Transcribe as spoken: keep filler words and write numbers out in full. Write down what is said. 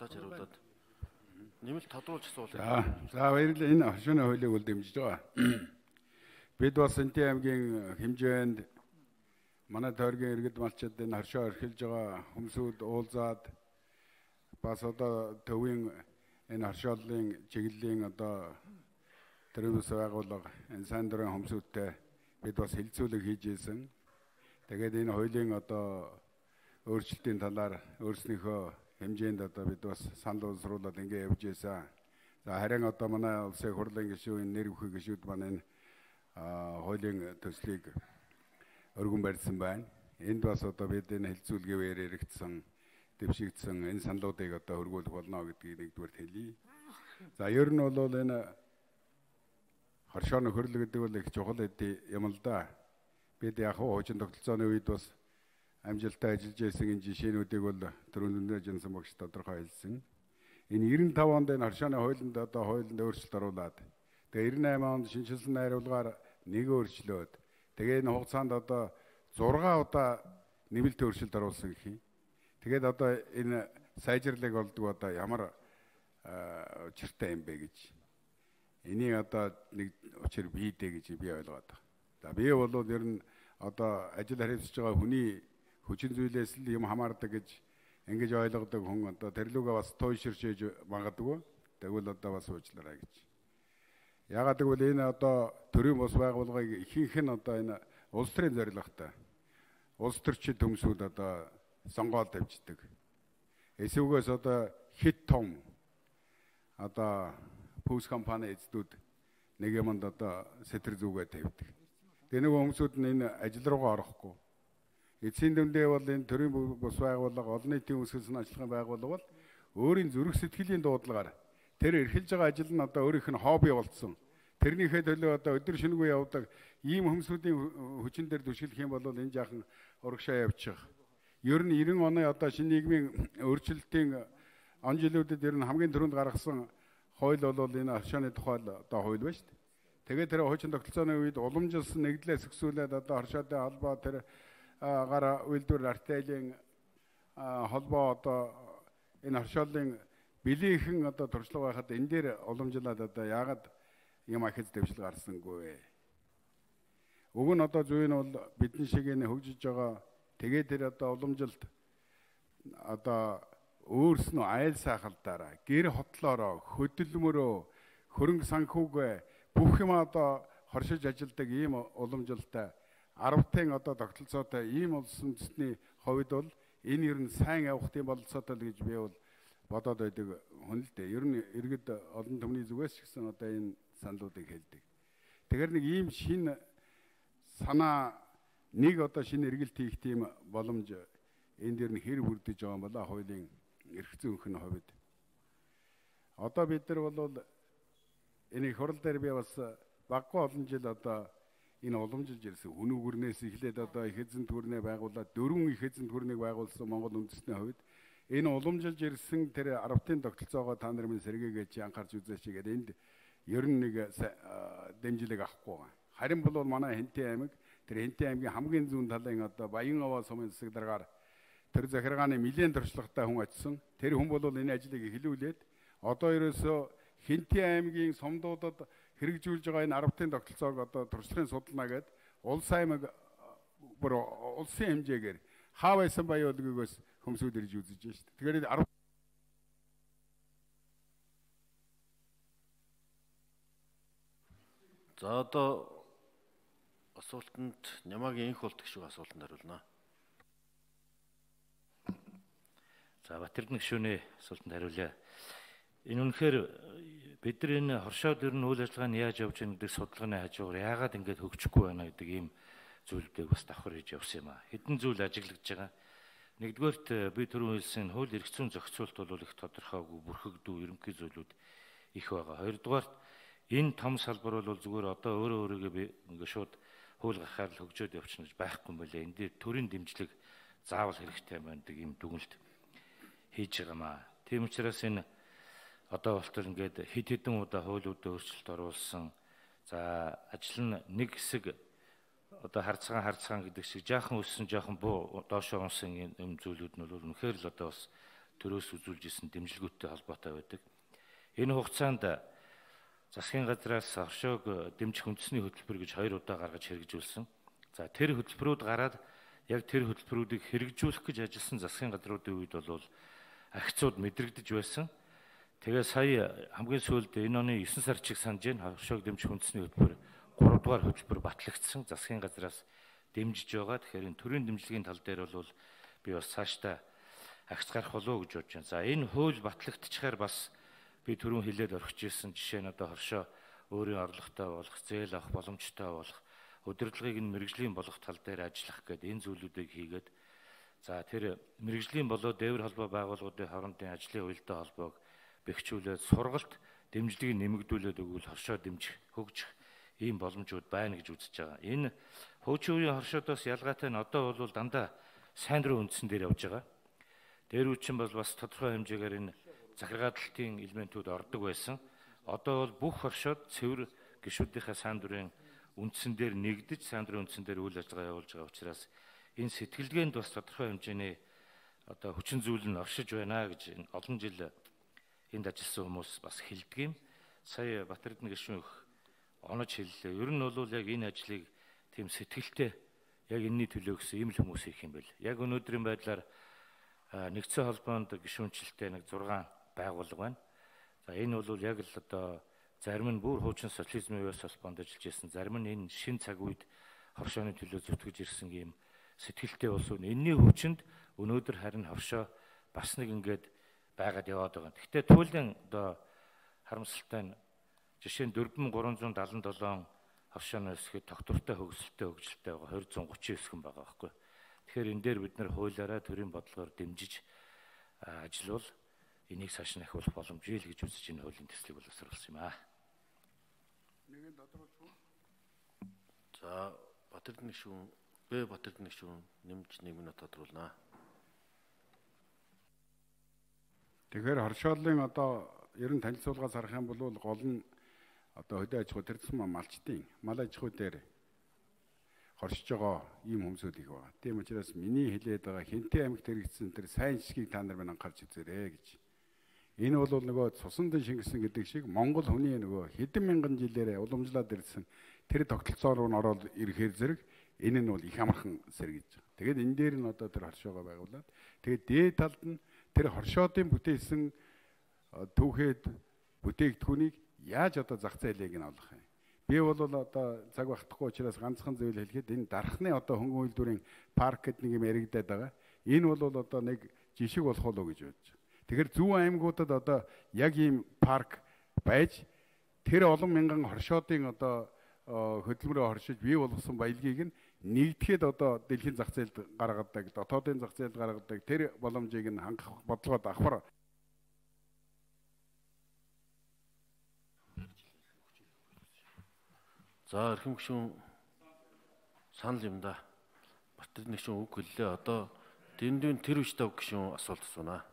Дутаж хариулаад нэмэлт тодруулж асуулт. За, за баярлалаа. Энэ оршууны хуулийг үл дэмжиж байгаа. Бид бас Энтийн аймгийн хэмжээнд манай тойргийн иргэд малчид энэ харшаа орхилж байгаа хүмүүсүүд уулзаад бас одоо төвийн энэ харшааллын чиглэлийн одоо тэрүүс байгууллага энэ сайн дурын хүмүүсүүдтэй бид бас хилцүүлэг хийж ийсэн. Тэгээд энэ хуулийн одоо өөрчлөлтийн талаар өөрснийхөө хэмжээнд одоо бид бас санал уусруулад ингэ явж ийсэн. За харин одоо манай улсын хурлын гишүүн нэр бүхий гишүүд маань энэ хуулийн төслийг өргөн барьсан байна. Энд бас одоо бид энэ хилцүүлгээр яригдсан, дэвшигдсэн энэ саналуудыг одоо хөргүүлэх болно гэдгийг нэгдүгээр хэлье. За ер нь бол энэ харшааны хөрөл гэдэг бол их чухал юм л да. Бид яг хуучин тогтолцооны үед бас амжилттай ажиллаж байсан энэ жишээнүүдийг бол түрүүнд Жансан багш тодорхой хэлсэн. Энэ девяносто пять онд энэ харшааны хуулинд одоо хуулинд өөрчлөлт оруулад тэгээ девяносто восемь онд шинжилсэн найруулгаар нэг өөрчлөөд тэгээ энэ хугацаанд одоо зургаан удаа нэмэлт өөрчлөлт оруулсан гэх юм. Тэгээд одоо энэ сайжрлыг олдог одоо ямар учиртай юм бэ гэж. Энийг одоо нэг учир бийдэ гэж би ойлгоод байна. За би бол ер нь одоо ажил хариуцж байгаа хүний хүчин зүйлээс л юм хамаардаг гэж ингэж ойлгодог хүн одоо тэрлүүгээ бас туйширчээж магадгүй. Тэгвэл одоо бас уучлаарай гэж. Ягаад гэвэл энэ одоо төрийн бус байгууллагыг ихэнх нь одоо энэ улс төрийн зорилготой. Улс төрчид хүмүүсүүд одоо сонгоод тавьждаг. Эсвгээс одоо хит том одоо пүүс компани эзэдүүд нэг юмд одоо сэтэр зүгээ тавьдаг. Тэгээ нэг хүмүүсүүд нь энэ ажил руугаа орохгүй. Эцсийн дүндээ бол энэ төрийн бус байгууллага олон нийтийн үсгэлсэн ажиллагааны байгууллага бол өөрийн зүрх сэтгэлийн дуудлагаар тэр эрхэлж байгаа ажил нь одоо өөрийнх нь хобби болцсон. Тэрнийхээ төлөө одоо өдөр шөнөгүй явдаг ийм хүмүүсийн хүчин дээр түшиглэх юм бол энэ жаахан урагшаа явчих. Ер нь девяносто оны одоо шинэ нийгмийн өөрчлөлтийн он жилүүдэд ер нь хамгийн түрүүнд гаргасан хууль бол энэ харшааны тухай одоо хууль байна шүү дээ. Тэгээд тэр хуучин тогтолцооны үед уламжилсан нэгдлээс өксүүлээд одоо харшаатай холбоо тэр гар үйлдвэр артелийн холбоо одоо энэ харшааллын билийнхэн одоо туршлага байхад энэ дээр уламжлаад одоо яагаад юм ахиж дэвшил гарсангүй вэ? Уг нь одоо зөв нь бол бидний шиг энэ хөгжиж байгаа тэгээд тэр одоо уламжилт одоо өөрснөө айл сайхалдаараа гэр хотлоороо хөдөлмөрөө хөрөнгө санхүүгээ бүх юм одоо хоршиж ажилдаг ийм уламжилтай арвтын одоо тогтолцоотой ийм улсын үндэстний хувьд бол энэ ер нь сайн явах тийм бололцоотой л гэж би бол бодоод байдаг хүн л дээ. Ер нь иргэд олон түмний зүгээс ч гэсэн одоо энэ саналуудыг хэлдэг. Тэгэхээр нэг ийм шин санаа нэг одоо шинэ эргэлт хийх тийм боломж энэ дээр нь хэр бүрдэж байгаа юм бала хуулийн эрх зүйнх нь хувьд. Одоо бид нар бол энэ хурал дээр би бас баггүй олон жил одоо энэ уламжилж ирсэн хүн үгэрнээс эхлээд одоо их эзэн төрнээ байгуулад дөрвөн их эзэн төрнийг байгуулсан Монгол үндэстний хувьд энэ уламжилж ирсэн тэр арвтын тогтолцоогоо та нар минь сэргээгээ чи анхаарч үзээч гэдэг энд ер нь нэг дэмжлэг авахгүй байгаа. Харин бол манай Хэнтийн аймаг тэр Хэнтийн аймгийн хамгийн зүүн талын одоо Баян-Аваа сумын засаг даргаар тэр захиргааны нэлээд туршлагатай хүн очсон. Тэр хүн бол энэ ажлыг эхлүүлээд одоо ерөөсөө Хэнтийн аймгийн сумдуудад хэрэгжүүлж байгаа энэ арвтын тогтолцоог одоо туршлагын судалнаа гээд улс аймаг бүр улсын хэмжээгээр хаа байсан баяуулгүйгээс хүмүүсүүд ирж үзэж байна шүү дээ. Тэгэхээр арав За одоо асуултанд Нямаагийн инх болт гişүү асуултанд хариулнаа. За Батэрдэн гişүүний асуултанд хариулъя. Энэ үнэхээр бид нар энэ хоршоод ер нь үйл ажиллагааны яаж явж байгаа гэдэг судалгааны хажуугаар яагаад ингэж хөгжихгүй байна гэдэг ийм зүйлүүдийг бас давхар хийж явсан юм а. Хэдэн зүйл ажиглагдж байгаа. Нэгдүгээрт би түрүүн хэлсэн хууль эрх зүйн зохицуулт бол их тодорхойгүй бүрхэгдүү ерөнхий зүйлүүд их байгаа. Хоёрдугаарт энэ том салбар бол зүгээр одоо өөрөө өөрийгөө би ингээ шууд хууль гаргахаар л хөгжөөд явчихна гэж байхгүй юм байлаа. Энд дээр төрийн дэмжлэг заавал хэрэгтэй байна гэдэг ийм дүгнэлт хийж байгаа маа. Тийм учраас энэ одоо болтол ингээд хэд хэдэн удаа хуулиудад өөрчлөлт оруулсан. За ажил нь нэг хэсэг одоо харцгаан харцгаан гэдэг шиг жаахан өссөн жаахан буу доошоо унсан юм зүйлүүд нь бол үнэхээр л одоо бас төрөөс үзүүлж исэн дэмжлэгүүдтэй холбоотой байдаг. Энэ хугацаанд засгийн газраас оршоог дэмжих үндэсний хөтөлбөр гэж хоёр удаа гаргаж хэрэгжүүлсэн. За тэр хөтөлбөрүүд гараад яг тэр хөтөлбөрүүдийг хэрэгжүүлэх гэж ажилласан засгийн газруудын үед бол агцууд мэдрэгдэж байсан. Тэгээ сая хамгийн сүүлд энэ оны есөн сар чиг санаж байна. Оршоог дэмжих үндэсний хөтөлбөр гурав дугаар хөтөлбөр батлагдсан. Засгийн газраас дэмжиж байгаа. Тэгэхээр энэ төрийн дэмжлэгийн тал дээр бол би бас цаашдаа агц гарах болов уу гэж бодож байна. За энэ хууль батлагдчихаар бас би түрүүн хэлээд орхиж ирсэн жишээ нь одоо хоршоо өөрийн орлоготой болох, зээл авах боломжтой болох, удирдлагыг нь мэрэгжлийн болох тал дээр ажиллах гэдэг энэ зүйлүүдийг хийгээд за тэр мэрэгжлийн болоо дээвэр холбоо байгууллагуудын хоорондын ажлын уялдаа холбоог бэхжүүлээд сургалт дэмжлэгийг нэмэгдүүлээд өгвөл хоршоо дэмжих, хөгжих ийм боломжууд байна гэж үзэж байгаа. Энэ хуучин үеийн хоршоодоос ялгаатай нь одоо бол дандаа сайн дурын үндсэн дээр явж байгаа. Дээр үчин бол бас тодорхой хэмжээгээр энэ захиргаалтын элементүүд ордог байсан. Одоо бол бүх хоршоод цэвэр гишүүдийнхээ сайн дурын үндсэн дээр нэгдэж сайн дурын үндсэн дээр үйл ажиллагаа явуулж байгаа учраас энэ сэтгэлгээнд бас тодорхой хэмжээний одоо хүчин зүйл нь оршиж байна гэж энэ олон жил энд ажилласан хүмүүс бас хэлдэг юм. Сая Батэрдэн гишүүн их онож хэллээ. Ер нь бол яг энэ ажлыг тийм сэтгэлтэй яг энэний төлөө гэсэн ийм л хүмүүс хийх юм байл. Яг өнөөдрийн байдлаар нэгдсэн холбоонд гишүүнчлэлтэй нэг зургаан байгууллага байна. За энэ бол яг л одоо зарим нь бүр хуучин социализмын үеэс холбоонд ажиллаж ирсэн, зарим нь энэ шин цаг үед хоршооны төлөө зүтгэж ирсэн ийм сэтгэлтэй болсон. Энэний хүчинд өнөөдөр харин хоршоо бас нэг ингээд байгаад яваад байгаа. Гэхдээ туйлын одоо харамсалтай нь жишээ нь дөрвөн мянган гурван зуун даатан долоон хоршооны хэсгээд тогтвортой хөгжөлтэй хөгжилтэй байгаа хоёр зуун гучин хэсгэн байгаа байхгүй. Тэгэхээр энэ дээр бид нэр хуулиараа төрийн бодлогоор дэмжиж ажиллавал энийг цааш нь ахиулах боломжтой л гэж үзэж энэ хуулийн төслийг боловсруулсан юм аа. Нэгэн тодорхойлчихв. За Батэрдэн гишүүн, Б Батэрдэн гишүүн нэмж нэг минут тодруулнаа. Тэгэхээр хоршоолын одоо ер нь танилцуулгаас харах юм бол гол нь одоо хөдөө аж ахуй төрсөн малчдын мал аж ахуй дээр хоршиж байгаа ийм хүмүүсүүд их байна. Тийм учраас миний хэлээд байгаа Хэнтэй аймагт хэрэгжсэн тэр сайн жишгийг та нар минь анхаарч үзээрэй гэж. Энэ бол нөгөө цусандын шингэсэн гэдэг шиг Монгол хүний нөгөө хэдэн мянган жилээр уламжлаад ирсэн тэр тогтолцоо руу н ороод ирэхээр зэрэг энэ нь бол их амархан сэргийж байгаа. Тэгээд энэ дээр нь одоо тэр хоршоогоо байгуулад тэгээд дээд талд нь тэр хоршоодын бүтээсэн түүхэд бүтээгдэхүүнийг яаж одоо зах зээлийг нь олох юм. Би бол одоо цаг багтахгүй учраас ганцхан зүйл хэлэхэд энэ дархны одоо хөнгөн үйлдвэрийн парк гэдэг нэг юм яригадаад байгаа. Энэ бол одоо нэг жишг болох болов гэж бодож байна. Тэгэхээр зүүн аймагуудад одоо яг ийм парк байж тэр олон мянган хоршоодын одоо хөдөлмөрөөр хоршиж бий болгосон баялагийг нь нэгдэхэд одоо дэлхийн зах зээлд гаргадаг, дотоодын зах зээлд гаргадаг тэр боломжийг нь хангах бодлого давхар. За эрхэм гишүүн санал юм да. Батэрдэн гишүүн үг хэллээ. Одоо дэндүүн тэр үе тав гишүүн асуулт асуунаа.